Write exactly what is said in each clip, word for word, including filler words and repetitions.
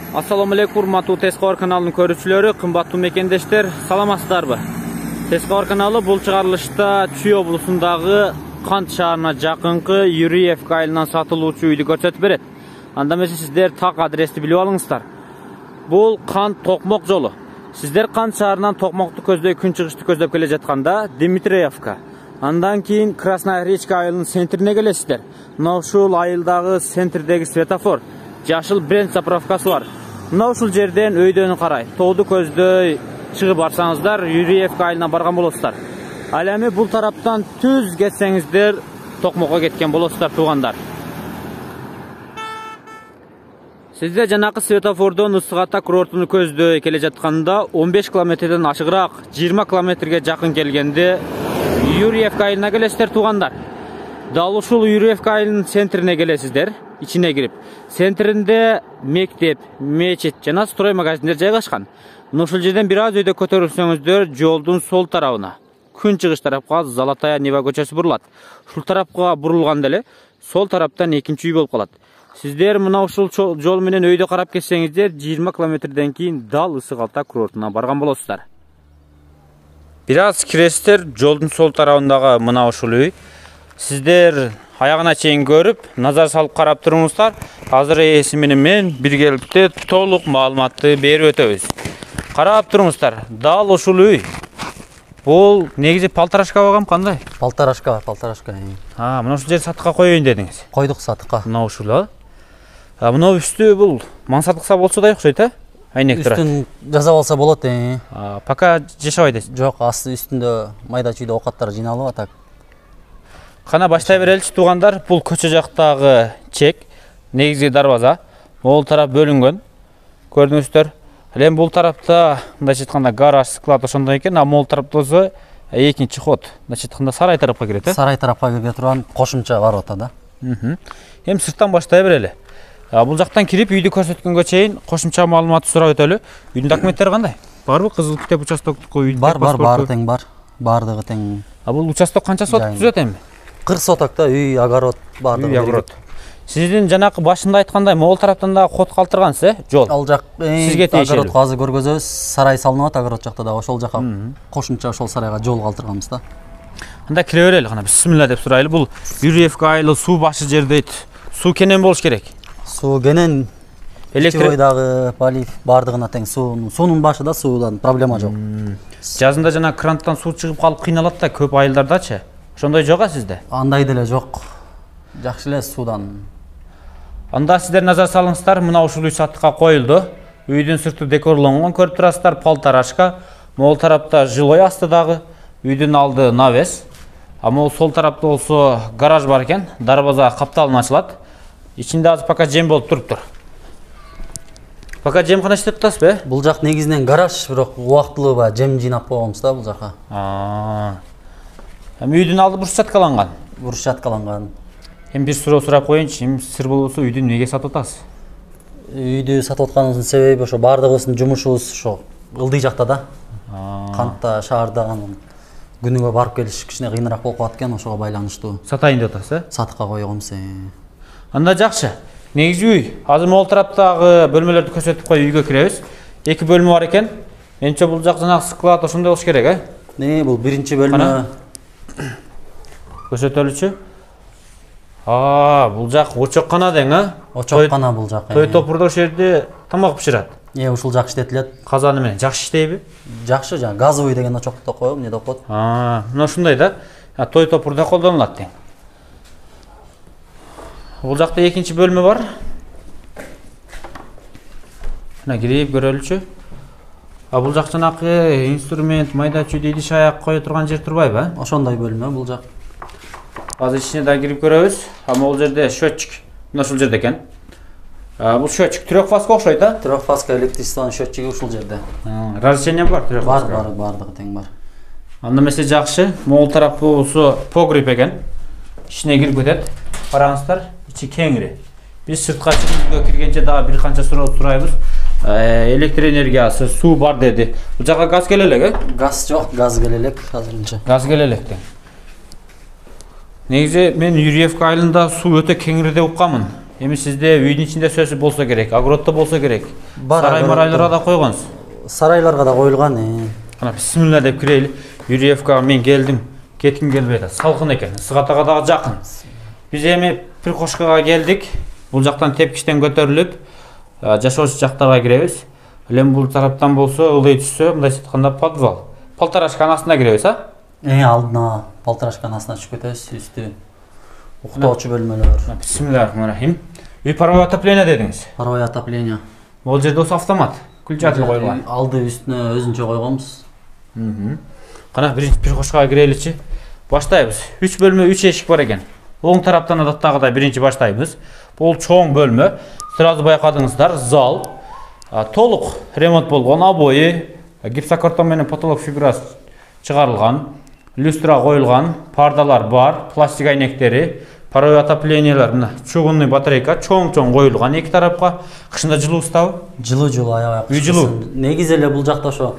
Assalamu alaikum, урматтуу Тескабар каналынын көрүүчүлөрү, кымбаттуу мекендештер, саламатсыздарбы? Тескабар каналы бул чыгарылышта Чүй облусундагы Кант шаарына жакынкы Юрьевка айылынан сатылуучу үйдү көрсөтүп берет. Анда эмесе сиздер так адрести билип алыңыздар. Бул Кант Токмок жолу. Сиздер Кант шаарынан Токмокту көздөй күн чыгышты көздөп келе жатканда Дмитриевка, андан кийин Красная речка айылынын центрине келесиздер. Мына ушул айылдагы центрдеги светофор, жашыл бренд заправкасы бар. Мына ушул жерден өйдөнү карай, тооду көздөй чыгып барсаңыздар, Юрьевка айылына барган болосуздар. Ал эми бул тараптан түз кетсеңиздер, Токмокко кеткен болосуздар, туугандар. Сизде жанакы светофордон Ысык Ата курортуну көздөй келе жатканда он беш километрден ашыгыраак жыйырма километрге жакын келгенде Юрьевка айылына келесиздер, туугандар. Дал ушул Юрьевка айылынын центрине келесиздер, ичине кирип. Центринде мектеп, мечит жана строй магазиндер жайгашкан. Мына ушул жерден бир аз өйдө көтөрүлсөңүздөр, жолдун сол тарабына, күн чыгыш тарапка Золотая Нева көчөсү бурулат. Ушул тарапка бурулганда эле сол тараптан экинчи үй болуп калат. Сиздер мына ушул жол менен өйдө карап кетсеңиздер, жыйырма километрден кийин дал Ысык Ата курортуна барган болосуздар. Бир аз киресиздер, жолдун сол тарабындагы мына ушул үй. Сиздер аягына чейин көрүп, назар салып карап туруңуздар. Азыр ээси менен мен биргеликте толук маалыматты берип өтөбүз. Карап туруңуздар, дал ушул үй. Бул негизи полторашка багам кандай? Полторашка, полторашка. А, мына ушул жер сатыкка коёюн дедиңиз. Койдук сатыкка. Мына ушул, а? А мына үстү бул мансаптыкса болсо да окшойт, а? Айнек турат. Үстүн жазап алса болот, э. А, пока жашабайт эсиз. Жок, асты үстүндө майда чүйдө оокаттар жыйналып атат. Кана баштай береличи, туугандар. Бул көчө жактагы чек, негизги дарбаза. Могул тарап бөлүнгөн. Көрдүңүздөр. Эми бул тарапта, мындайча айтканда, гараж, склад ошондой экен, а могул тарапта болсо экинчи ход. Мындайча айтканда сарай тарапка кирет, э? Сарай тарапка кире турган кошумча бар ата да. Эми сырттан баштай берели. Бул жактан кирип үйдү көрсөткөнгө чейин кошумча маалымат сурап өтөлү. Үйдүн документтери кандай? Барбы? Кызыл китеп, участоктук үйдүн бар, бар, баары тең бар. Баардыгы тең. А бул участок канча соток түзөт эми? кырк сотокто үй, огород баардыгы. Үй, огород. Сиздин жанакы башында айткандай, могул тараптан да код калтыргансыз, э? Жол. Ал жак сизге тиешелүү. Огородко азыр көргөзөбүз. Сарай салынып атат огород жакта да, ошол жака кошумча ошол сарайга жол калтырганбыз да. Анда кире берели, кана бисмилла деп сурайлы. Бул Юрьевка айылы суу башы жер дейт. Суу кенен болуш керек. Суу кенен, электройдагы полив баардыгына тең суу. Суунун башы да, суудан проблема жок. Жазында жана кранттан суу чыгып калып кыйналат да көп айылдардачы. Ошондой жок а сизде? Андай деле жок. Жакшы эле суудан. Анда сиздер назар салыңыздар, мына ушул үй сатыкка коюлду. Үйдүн сырты декорлонгон, көрүп турасыздар, полторашка. Могул тарапта жилой астыдагы, үйдүн алды навес. А могул сол тарапта болсо гараж бар экен, дарбаза капталын ачылат. Ичинде азыр пока жем болуп туруптур. Пока жем кана иштеп атасызбы? Бул жак негизинен гараж, бирок убактылуу ба жем жыйнап койгонбуз да бул жака. А. Эми үйдүн алды брусчаткаланган. Брусчаткаланган. Эми бир суроо сурап коеюнчу, эми сыр болбосо үйдү эмнеге сатып атасыз? Үйдү сатып атканыбыздын себеби ошо баардыгыбыздын жумушубуз ошо ылдый жакта да. Кантта, шаарда күнүгө барып келиш кичине кыйыныраак болуп калат экен, ошого байланыштуу. Сатайын деп атасыз, э? Сатыкка койгонбуз. Анда жакшы. Негизи үй. Азыр могул тараптагы бөлмөлөрдү көрсөтүп коюп үйгө киребиз. Эки бөлмө бар экен. Менче бул жак жанагы склад ошондой болуш керек, э? Не, бул биринчи бөлмө. Көрсөтөлүчү. А, бул жак очоккана дең, а? Очоккана бул жак. Той топурда ошол жерде тамак пишират. Э, ушул жак иштетилет. Казаны менен жакшы иштейби? Жакшы, жана газовый деген очокто коём, эмне деп коет. А, мына ушундай да. Той топурда колдонулат тең. Бул жакта экинчи бөлмө бар. Мына кирип көрөлүчү. А бул жак жанакы инструмент, майда чүйдө идиш аяк кое турган жер турбайбы, а? Ошондой бөлмө бул жак. Азыр ичине да кирип көрөбүз. А могул жерде счётчик. Мына ушул жерде экен. А бул счётчик трёхфазга окшойт, а? Трёхфазга электричествонун счётчиги ушул жерде. Разрешение бар трёхфазга? Бар, бар, баардыгы тең бар. Анда эмесе жакшы. Могул тарапы болсо погреб экен. Ичине кирип кетет. Караңыздар, ичи кеңири. Биз сыртка чыгып киргенче дагы бир канча суроо сурайбыз. Электр энергиясы, суу бар деди. Бул жака газ келе элек, э? Газ жок, газ келе элек азырынча. Газ келе элек тең. Негизи мен Юрьевка айылында суу өтө кеңири деп укканмын. Эми сизде үйдүн ичинде сөзсүз болсо керек, огороддо болсо керек. Сарай марайларга да койгонсуз. Сарайларга да коюлган. Кана бисмилла деп кирели. Юрьевкага мен келдим. Кетким келбей атат. Салкын экен. Сыгатага дагы жакын. Биз эми Прикошкага келдик. Бул жактан тепкичтен көтөрүлүп, жашоочу жактарга киребиз. Эми бул тараптан болсо ылдый түшсө, мындайча айтканда подвал. Полторашканын астына киребиз, а? Э, алдына полторашканын астына түшүп кетебиз, үстү уктоочу бөлмөлөр. Бисмиллахиррахманиррахим. Үй паровое отопление дедиңиз. Паровое отопление. Бул жерде осы автомат, включатель коюлган. Алды үстүнө өзүнчө койгонбуз. Кана биринчи Прикошкага киреличи. Баштайбыз. үч бөлмө, үч эшик бар экен. Оң тараптан адаттагыдай биринчи баштайбыз. Бул чоң бөлмө. Сразу байкадыңыздар, зал. Толук ремонт болгон, обои, гипсокартон менен потолок фигурасы чыгарылган, люстра коюлган, пардалар бар, пластик айнектери, паровое отоплениелер, мына чугунный батарейка чоң-чоң коюлган эки тарапка. Кышында жылуу устабы? Жылуу, жылуу, аябай. Үй жылуу. Негизи эле бул жакта ошо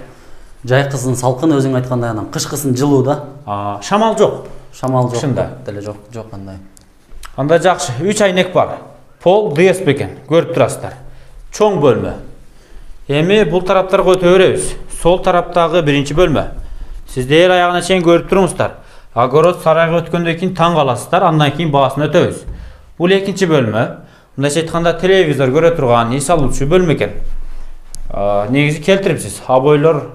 жайкысын салкын, өзүң айткандай, анан кышкысын жылуу да. Шамал жок. Шамал жок. Кышында деле жок, жок кандай. Анда жакшы. үч айнек бар. Пол ДСП экен, көрүп турасыздар. Чоң бөлмө. Эми бул тараптарга өтө беребиз. Сол тараптагы биринчи бөлмө. Сиздер аягына чейин көрүп туруңуздар. Огород сарайга өткөндөн кийин таң каласыздар, андан кийин баасын өтөбүз. Бул экинчи бөлмө. Мындайча айтканда телевизор көрө турган, эс алуучу бөлмө экен. Негизи келтирипсиз. Обойлор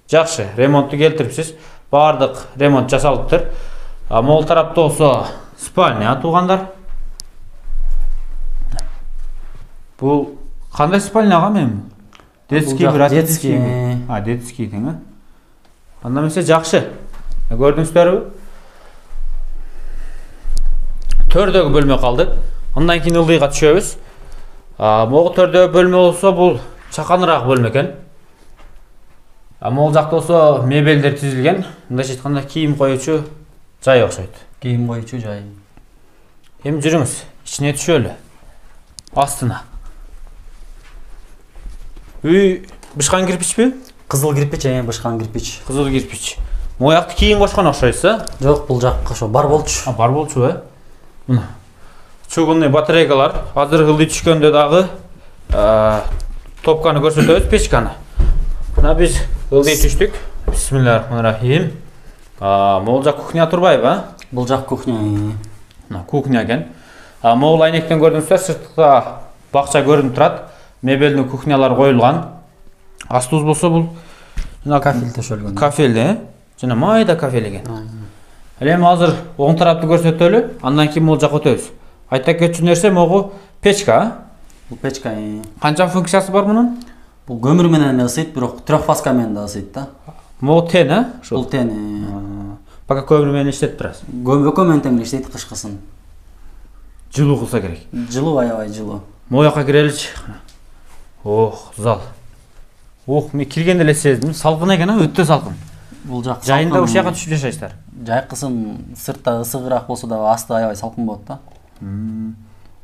жакшы, ремонтту келтирипсиз. Бардык ремонт жасалыптыр. Могул тарапта болсо спальня туугандар. Бул кандай спальняга мен? Детский, детский. А, детский дең, а? Анда эмесе жакшы. Көрдүңүздөрбү? Төрдөгү бөлмө калды. Андан кийин ылдыйга түшөбүз. Могу төрдөгү бөлмө болсо бул чаканыраак бөлмө экен. Могул жакта болсо мебелдер тизилген. Мындайча айтканда кийим коюучу жай окшойт. Кийим коюучу жай. Эми жүрүңүз, ичине түшөлү. Астына. Үй бышкан кирпичпи? Кызыл кирпич, эми бышкан кирпич. Кызыл кирпич. Моякты кийин кошкон окшойсуз, а? Жок, бул жакка ошо бар болчу. А, бар болчу, э? Мына. Чугунный батарейкалар. Азыр ылдый түшкөндө дагы топканы көрсөтөбүз, печканы. Мына биз ылдый түштүк. Бисмиллахиррахманиррахим. Могул жак кухня турбайбы, а? Бул жак кухня. Мына кухня экен. Могул айнектен көрдүңүздөр, сыртта бакча көрүнүп турат. Мебелдин кухнялар коюлган. Астыбыз болсо бул кафел төшөлгөн. Кафел, э? Жана майда кафел экен. Эми азыр оң тарапты көрсөтөлү, андан кийин могул жакка өтөбүз. Айта кетчү нерсе могу печка, а? Бул печка. Канча функциясы бар мунун? Бул көмүр менен ысыйт, бирок трёхфазка менен да ысыйт да. Могу тен, а? Бул тен. Пока көмүр менен иштетип турасыз. Көмүр менен тең иштейт кышкысын. Жылуу кылса керек. Жылуу, аябай жылуу. Могу жакка киреличи. Ох, зал. Ох, мен киргенде эле сездим. Салкын экен, а? Өтө салкын. Бул жак жайында ушул жака түшүп жашайсыздар. Жайкысын сыртта ысыгыраак болсо да асты аябай салкын болот да.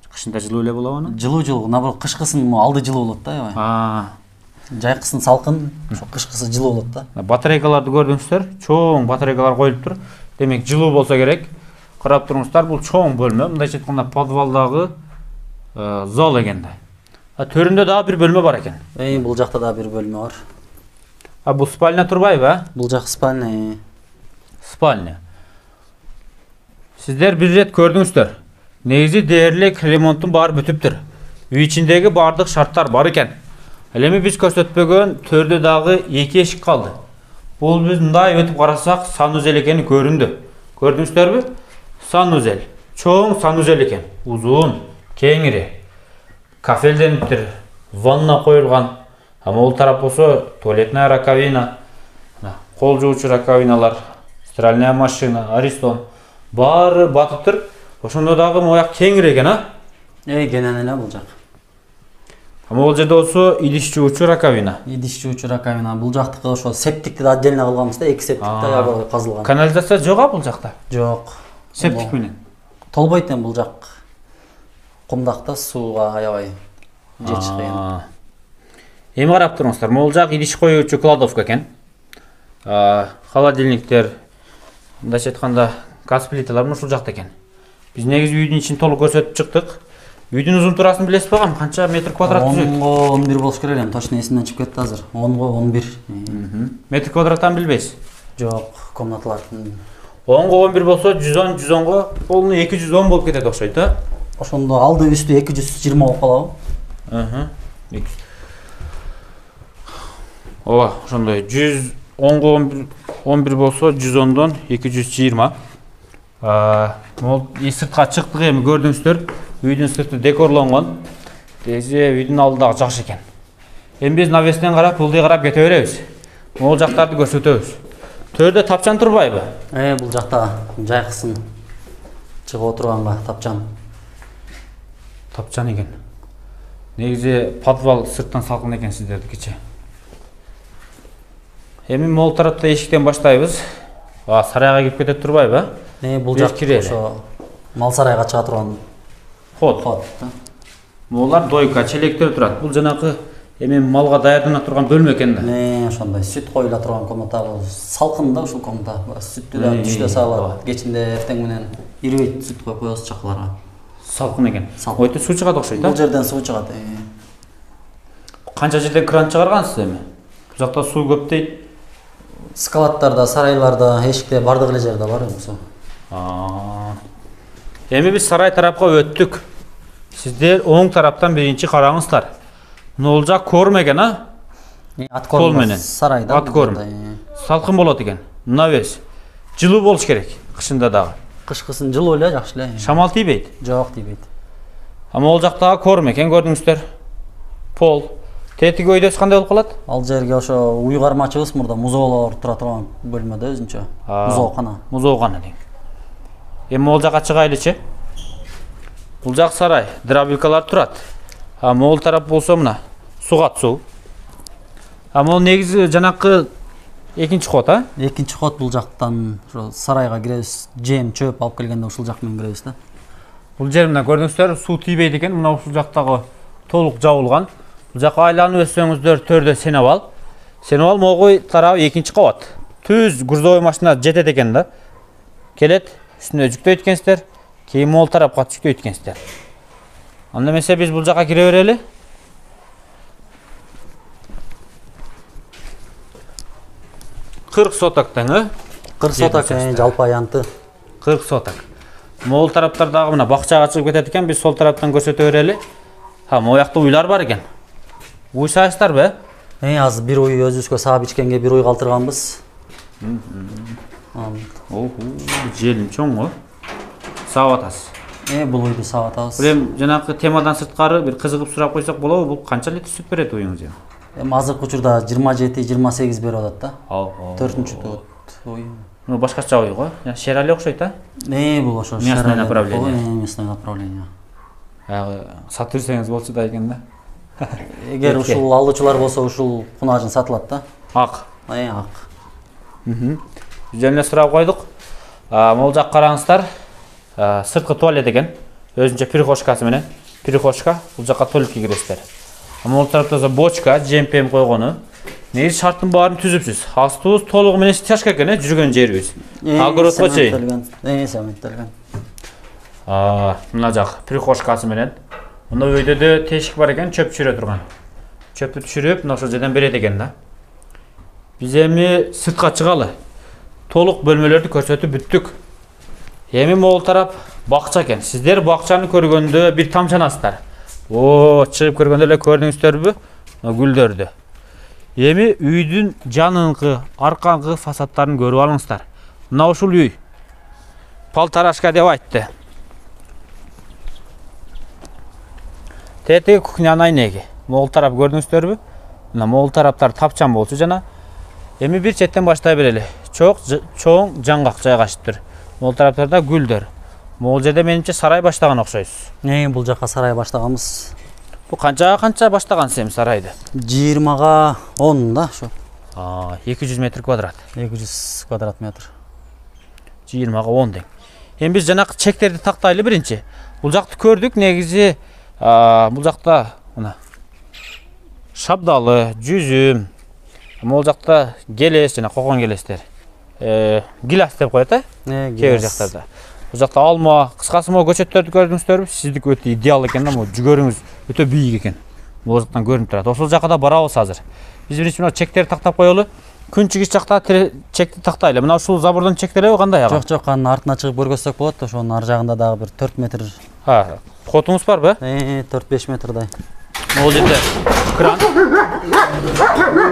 Кышында жылуу эле болобу аны? Жылуу жылуу, наоборот кышкысын алды жылуу болот да аябай. А. Жайкысын салкын, ошо кышкысы жылуу болот да. Батарейкаларды көрдүңүздөр, чоң батарейкалар коюлуптур. Демек жылуу болсо керек. Карап туруңуздар, бул чоң бөлмө, мындайча айтканда подвалдагы зал экен да. Төрүндө дагы бир бөлмө бар экен. Эми бул жакта да бир бөлмө бар. А бул спальня турбайбы, а? Бул жак спальня. Спальня. Сиздер бир рет көрдүңүздөр. Негизи дээрлик ремонттун баары бүтүптүр. Үй ичиндеги бардык шарттар бар экен. Эми биз көрсөтпөгөн төрдө дагы эки эшик калды. Бул биз мындай өтүп карасак санузел экени көрүндү. Көрдүңүздөрбү? Санузел. Чоң санузел экен. Узун, кеңири. Кафелдениптир. Ванна коюлган. А могул тарап болсо туалетная раковина, кол жуучу раковиналар, стиральная машина, аристон. Баары батыптыр. Ошондо дагы мояк кеңири экен, а? Эй, кенен эле бул жак. А могул жерде болсо идиш жуучу раковина. Идиш жуучу раковина. Бул жактыкы ошо септикти да отдельно кылганбыз да, эки септик да аябай казылган. Канализация жок а бул жакта? Жок. Септик менен. Толбойт эми бул жак. Кумдакта сууга аябай жетиш кыйын. Эми карап туруңуздар, могул жак идиш коюучу кладовка экен. Холодильниктер, мындайча айтканда газ плиталар ушул жакта экен. Биз негизи үйдүн ичин толук көрсөтүп чыктык. Үйдүн узун турасын билесиз багам? Канча метр квадрат түзөт? онго он бир болуш керек элем. Точно эсимден чыгып кетти азыр. онго он бир. Метр квадраттан билбейсиз? Жок, комнаталар. онго он бир болсо, жүз он, жүз онго полный эки жүз он болуп кетет окшойт, а? Ошондо алды үстү эки жүз жыйырма болуп калабы? Аха. Ооба, ошондой жүз онго он бир болсо, жүз ондон эки жүз жыйырма. Аа, могул сыртка чыктык эми көрдүңүздөр. Үйдүн сырты декорлонгон. Деже үйдүн алды дагы жакшы экен. Эми биз навестен карап, ылдый карап кете беребиз. Могул жактарды көрсөтөбүз. Төрдө тапчан турбайбы? Э, бул жакта жайкысын. Чыгып отурганга тапчан. Тапчан экен. Негизи подвал сырттан салкын экен сиздердикичи. Эми могул тарапта эшиктен баштайбыз. А, сарайга кирип кетет турбайбы? Э, бул жак ошо мал сарайга чыга турган ход. Ход. Могулар дойка, челектер турат. Бул жанакы эми малга даярдана турган бөлмө экен да. Э, ошондой сүт коюла турган комната. Салкын да ушул комната. Сүттү да түштө салат. Кечинде эртең менен ирбейт сүт коюп коебуз чакаларга. Салкын экен. Ойто суу чыгат окшойт, а? Бул жерден суу чыгат. Канча жерден кран чыгаргансыз эми? Бул жакта суу көп дейт. Скалаттарда, сарайларда, эшикте бардык эле жерде бар эми суу. Аа. Эми биз сарай тарапка өттүк. Сиздер оң тараптан биринчи караңыздар. Бул жак корм экен, а? Ат корм менен. Сарайда. Ат корм. Салкын болот экен. Мына бериз. Жылуу болуш керек, кышында дагы. Кышкысын жылуу эле, жакшы эле. Шамал тийбейт? Жок, тийбейт. А могул жактагы корм экен, көрдүңүздөр. Пол. Тетиги өйдөсү кандай болуп калат? Ал жерге ошо уйгармачыбыз мурда музоолор тура турган бөлмөдө өзүнчө. Музоокана. Музоокана дейм. Эми могул жакка чыгайлычы. Бул жак сарай, дробилкалар турат. А могул тарап болсо мына сугат суу. А могул негизи жанакы экинчи ход, а? Экинчи ход бул жактан ошо сарайга киребиз. Жем, чөп алып келгенде ушул жак менен киребиз да. Бул жер мына көрдүңүздөр, суу тийбейт экен. Мына ушул жактагы толук жабылган. Бул жакка айланып өссөңүздөр төрдө сенебал. Сенебал могой тарабы экинчи кабат. Түз грузовой машина жетет экен да. Келет, үстүнө жүктөйт экенсиздер. Кийин могул тарапка жүктөйт экенсиздер. Анда эмесе биз бул жакка кире берели. кырк соток тең, э? кырк соток жалпы аянты. кырк соток. Могул тараптардагы мына бакчага чыгып кетет экен, биз сол тараптан көрсөтө берели. Ha, моякта уйлар бар экен. Уй сайыстарбы? Э, азыр бир уй өзүбүзгө саап ичкенге бир уй калтырганбыз. Оху, желим чоң го. Саап атасыз. Э, бул уйду саап атабыз. Эми жанакы темадан сырткары бир кызыгып сурап койсок болобу? Бул канча литр сүт берет уюңуз эми? Эми азыркы учурда жыйырма жети жыйырма сегиз берип атат да. төртүнчү тут уй. Ну башкача уй го. Шерали окшойт, а? Э, бул ошо местное направление. Местное направление. Ага, сатып берсеңиз болчу да экен да. Эгер ушул алуучулар болсо ушул кунажын сатылат да. Ак. Э, ак. Мм. Жана сурап койдук. А, могул жак караңыздар. Сырткы туалет экен. Өзүнчө прихожкасы менен. Прихожка, бул жакка туалетке киресиздер. Могул тарапта бочка, жемпем койгону. Негизи шарттын баарын түзүпсүз. Астыбыз толугу менен стяжка экен, жүргөн жерибиз. Агородко чейин. Э, цементтелген. А, мына жак прихожкасы менен. Мына өйдө тешик бар экен, чөп түшүрө турган. Чөптү түшүрүп, мына ошол жерден берет экен да. Биз эми сыртка чыгалы. Толук бөлмөлөрдү көрсөтүп бүттүк. Эми могул тарап бакча экен. Сиздер бакчаны көргөндө бир тамчанасыздар. О, чыгып көргөндө эле көрдүңүздөрбү? Гүлдөрдү. Эми үйдүн жаныңкы, аркаңкы фасадтарын көрүп алыңыздар. Мына ушул үй. Полторашка деп айтты. Тетиги кухняны айнеги. Могул тарап көрдүңүздөрбү? Мына могул тараптар тапчан болчу жана. Эми бир четтен баштай берели. Чоң, чоң жаңгак жайгашыптыр. Могул тараптарда гүлдөр. Могул жерде менимче сарай баштаган окшойсуз. Э, бул жака сарай баштаганбыз. Бул канча канча баштагансыз эми сарайды? жыйырмага он да ошо. А, эки жүз метр квадрат. эки жүз квадрат метр. жыйырмага он дең. Эми биз жанакы чектерди тактайлы биринчи. Бул жакты көрдүк, негизи бул жакта мына шабдалы, жүзүм, могул жакта келес жана кокон келестер. Э, гилас деп коет, э? Кээ бир жактарда. Бул жакта алма, кыскасы могу көчөттөрдү көрдүңүздөрбү? Сиздики өтө идеал экен да, могу жүгөрүңүз өтө бийик экен. Бул жактан көрүнүп турат. Ошол жака да барабыз азыр. Биз биринчи мына чектерди тактап коелу. Күн чыгыш жакта чекти тактайлы. Мына ушул забордон чектелеби кандай ага? Жок, жок, анын артына чыгып көргөзсөк болот. Ошонун ар жагында дагы бир төрт метр. Ha, kotumuz var be? Ee, төрт беш метрдай. Ne olacak da? Kran.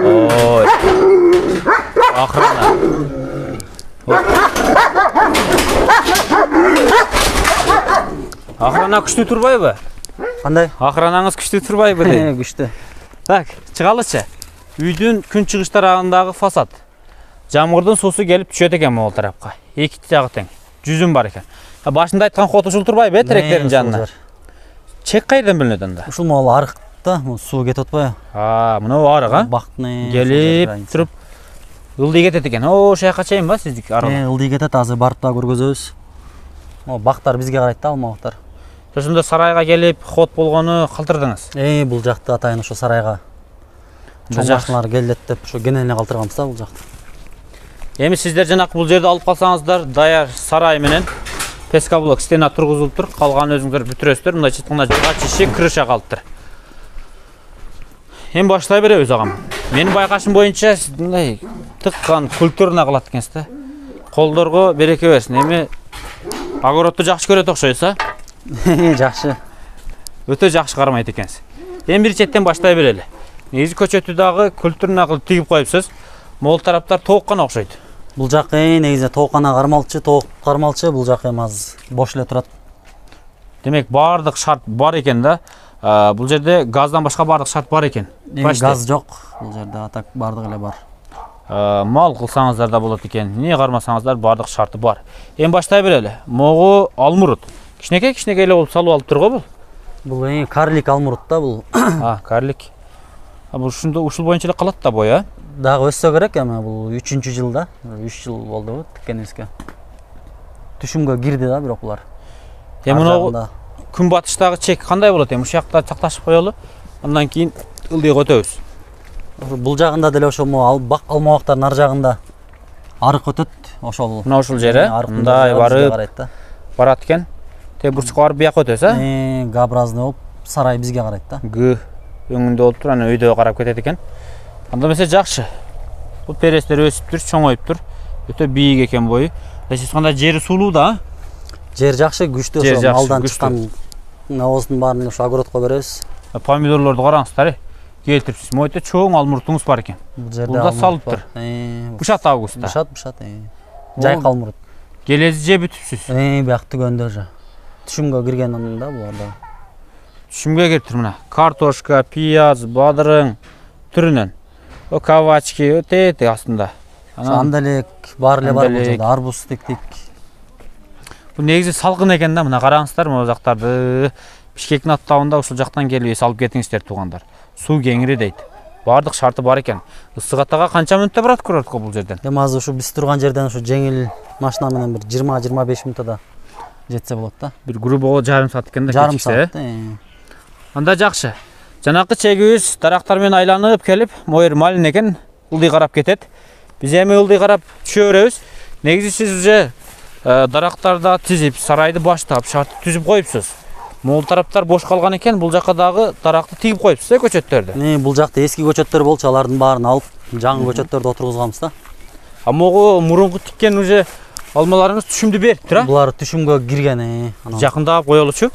Oy. Akrana. Akrana күчтүү турбайбы? Кандай? Акранаңыз күчтүү турбайбы дейм. Күчтүү. Так, чыгалычы. Үйдүн күн чыгыш тарабындагы фасад. Жамгырдын суусу келип түшөт экен могул тарапка. Эки жагы тең. Жүзүм бар экен. Башында айткан кот ушул турбайбы, теректердин жанына? Чек кайдан билинет анда? Ушул могул арыкта, суу кетип атпайбы? А, мына арык, а? Бактны келип туруп ылдый кетет экен. О, ошол жака чейин ба сиздики арык? Э, ылдый кетет, азыр барып да көргөзөбүз. О, бактар бизге карайт да, алма бактар. Ошондо сарайга келип ход болгону калтырдыңыз. Э, бул жакты атайын ошо сарайга. Чоң машиналар келет деп ошо кенелине калтырганбыз да бул жакты. Эми сиздер жанакы бул жерди алып калсаңыздар, даяр сарай менен пескоблок стена тургузулуп тур, калган өзүңүздөр бүтүрөсүздөр. Мындай чытканда ачышы крыша калыптыр. Эми баштай беребиз агам. Менин байкашым боюнча мындай тыккан культурно кылат экенсиз да. Колдорго береке берсин. Эми огородду жакшы көрөт окшойсуз, а? Жакшы. Өтө жакшы кармайт экенсиз. Эми бир четтен баштай берели. Негизи көчөтү дагы культурно кылып тигип коюпсуз. Могул тараптар тооккан окшойт. Бул жак негизи тооккана кармалчы, тоок кармалчы, бул жак эми аз бош эле турат. Демек баардык шарт бар экен да. Бул жерде газдан башка баардык шарт бар экен. Газ жок. Бул жерде атак баардык эле бар. Мал кылсаңыздар да болот экен. Эмне кармасаңыздар баардык шарты бар. Эми баштай берели. Могу алмурут. Кичинекей кичинекей эле болуп салып алып тур го бул. Бул эми карлик алмурут да бул. А, карлик. А бул ушунда ушул боюнча эле калат да бой, а? Дагы өссө керек, эми бул үчүнчү жылда, үч жыл болду тиккенибизге. Түшүмгө кирди да бирок булар. Эми мына күн батыштагы чек кандай болот эми? Ушул жакта чакташып коелу. Андан кийин ылдыйга өтөбүз. Бул жагында деле ошол бак алма бактардын ар жагында арык өтөт, ошол. Мына ушул жери мындай барып барат экен. Тээ бурчукка барып бияка өтөбүз, а? Э, Г-образный болуп, сарай бизге карайт да. Г өңүндө болуп тур, ана өйдө карап кетет экен. Анда эмесе жакшы. Бул перестер өсүп тур, чоңоюп тур. Өтө бийик экен бою. Эсес кандай жери суулуу да? Жер жакшы, күчтүү, ошо малдан чыккан навоздун баарын ошо огородко беребиз. Помидорлорду караңыздар, келтирипсиз. Мойтө чоң алмуртуңуз бар экен. Бул да салып тур. Бушат августта. Бушат, бушат. Жайкы алмурут. Келези же бүтүпсүз. Э, бияк түгөндө же. Түшүмгө кирген да буларда. Түшүмгө кириптир мына. Картошка, пияз, бадырың түрүнөн. О кавачки өтөт астында. Андалек бар эле бар бул жерде, арбуз тиктик. Бул негизи салкын экен да, мына караңыздар, могу жактарды Бишкектин аттабында ушул жактан келип эс алып кетиңиздер туугандар. Суу кеңири дейт. Баардык шарты бар экен. Ысык атага канча мүнөттө барат курортко бул жерден? Эми азыр ушу биз турган жерден ушу жеңил машина менен бир жыйырма жыйырма беш мүнөттө жетсе болот да. Бир грубого жарым саат экен да. Жарым саат. Анда жакшы. Жанакы чегибиз дарактар менен айланып келип, моер малин экен, ылдый карап кетет. Биз эми ылдый карап түшө беребиз. Негизи сиз уже дарактарды тизип, сарайды баштап, шартты түзүп коюпсуз. Могул тараптар бош калган экен, бул жака дагы даракты тигип коюпсуз, э, көчөттөрдү. Эми бул жакта эски көчөттөр болчу, алардын баарын алып, жаңы көчөттөрдү отургузганбыз да. А могу мурунку тиккен уже алмаларыңыз түшүмдү берип тур, а? Булар түшүмгө кирген, э. Жакындап коелучу.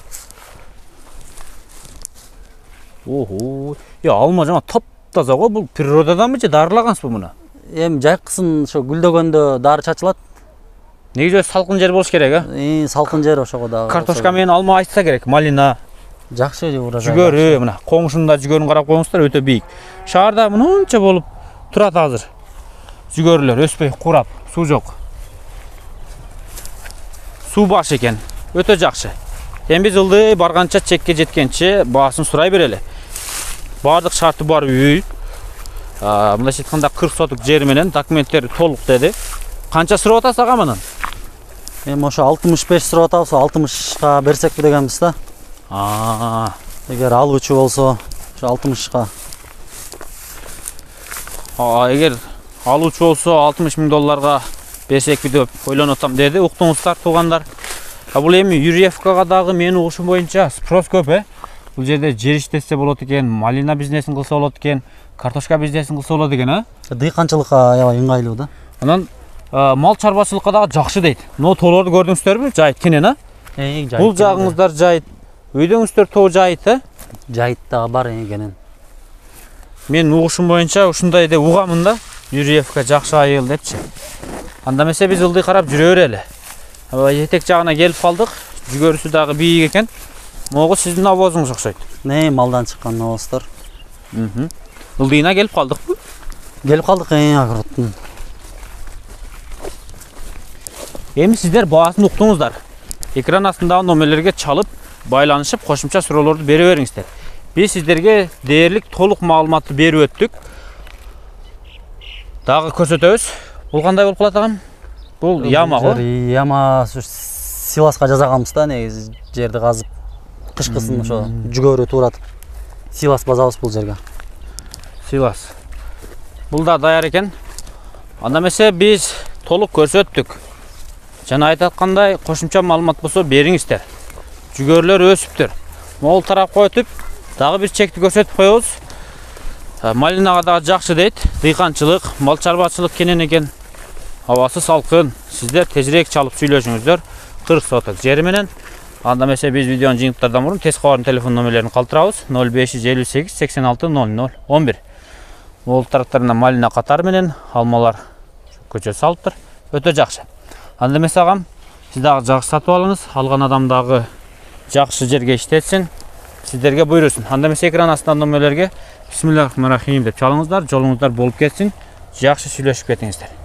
Ого, я алма жана таптаза го, бул природаданбы же дарылагансызбы муну? Эми жайкысын ошо гүлдөгөндө дары чачылат. Негизи салкын жер болуш керек, а? Э, салкын жер ошого дагы. Картошка менен алма айтса керек, малина. Жакшы урожай. Жүгөрү, мына коңшунда жүгөрүн карап коюңуздар, өтө бийик. Шаарда мынунча болуп турат азыр. Жүгөрүлөр өспөй курап, суу жок. Суу баш экен, өтө жакшы. Эми биз ылдый барганча чекке жеткенче баасын сурай берели. Баардык шарты бар үй. Мындайча айтканда кырк сотук жер менен документтери толук деди. Канча сурап атасыз ага мынын? Эми ошо алтымыш беш сурап атабыз, алтымышка берсекпи дегенбиз да. А, эгер алуучу болсо, ошо алтымышка. А, эгер алуучу болсо алтымыш миң долларга берсекпи деп ойлонуп атам деди. Уктуңуздар туугандар. А бул эми Юрьевкага дагы менин угушум боюнча спрос көп, э? Бул жерде жер иштесе болот экен, малина бизнесин кылса болот экен, картошка бизнесин кылса болот экен, а? Дыйканчылыкка аябай ыңгайлуу да. Анан мал чарбачылыкка дагы жакшы дейт. Но тоолорду көрдүңүздөрбү? Жайыт кенен, а? Э, жайыт. Бул жагыңыздар жайыт. Үйдөңүздөр тоо жайыт, э? Жайыт дагы бар экенин. Мен угушум боюнча ушундай деп угамын да. Юрьевка жакшы айыл депчи. Анда эмесе биз ылдый карап жүрө берели. Аба этек жагына келип калдык. Жүгөрүсү дагы бийик экен. Могу сиздин навозуңуз окшойт. Не, малдан чыккан навоздор. Мм. Ылдыйына келип калдыкпы? Келип калдык, э, агырттын. Эми сиздер баасын уктуңуздар. Экран астындагы номерлерге чалып, байланышып, кошумча суроолорду бере бериңиздер. Биз сиздерге дээрлик толук маалыматты берип өттүк. Дагы көрсөтөбүз. Бул кандай болуп калат агам? Бул яма го. Яма силаска жасаганбыз да, негизи жерди казып. Кышкысын ошо жүгөрү тууратып. Силас базабыз бул жерге. Силас. Бул да даяр экен. Анда эмесе биз толук көрсөттүк. Жана айтып аткандай, кошумча маалымат болсо бериңиздер. Жүгөрлөр өсүптүр. Могул тарапка өтүп, дагы бир чекти көрсөтүп коебуз. Малинага дагы жакшы дейт. Дыйканчылык, мал чарбачылык кенен экен. Абасы салкын. Сиздер тезирээк чалып сүйлөшүңүздөр. кырк соток жери менен. Анда эмесе биз видеонун жыйынтыктардан мурун тез кабардын телефон номерлерин калтырабыз. ноль беш жүз элүү сегиз сексен алты ноль ноль он бир. Могул тараптарына малина катары менен алмалар көчө салыптыр. Өтө жакшы. Анда эмесе агам, сиз дагы жакшы сатып алыңыз, алган адам дагы жакшы жерге иштетсин, сиздерге буйрусун. Анда эмесе экран астындагы номерлерге бисмиллахиррахманиррахим деп чалыңыздар, жолуңуздар болуп кетсин, жакшы сүйлөшүп кетиңиздер.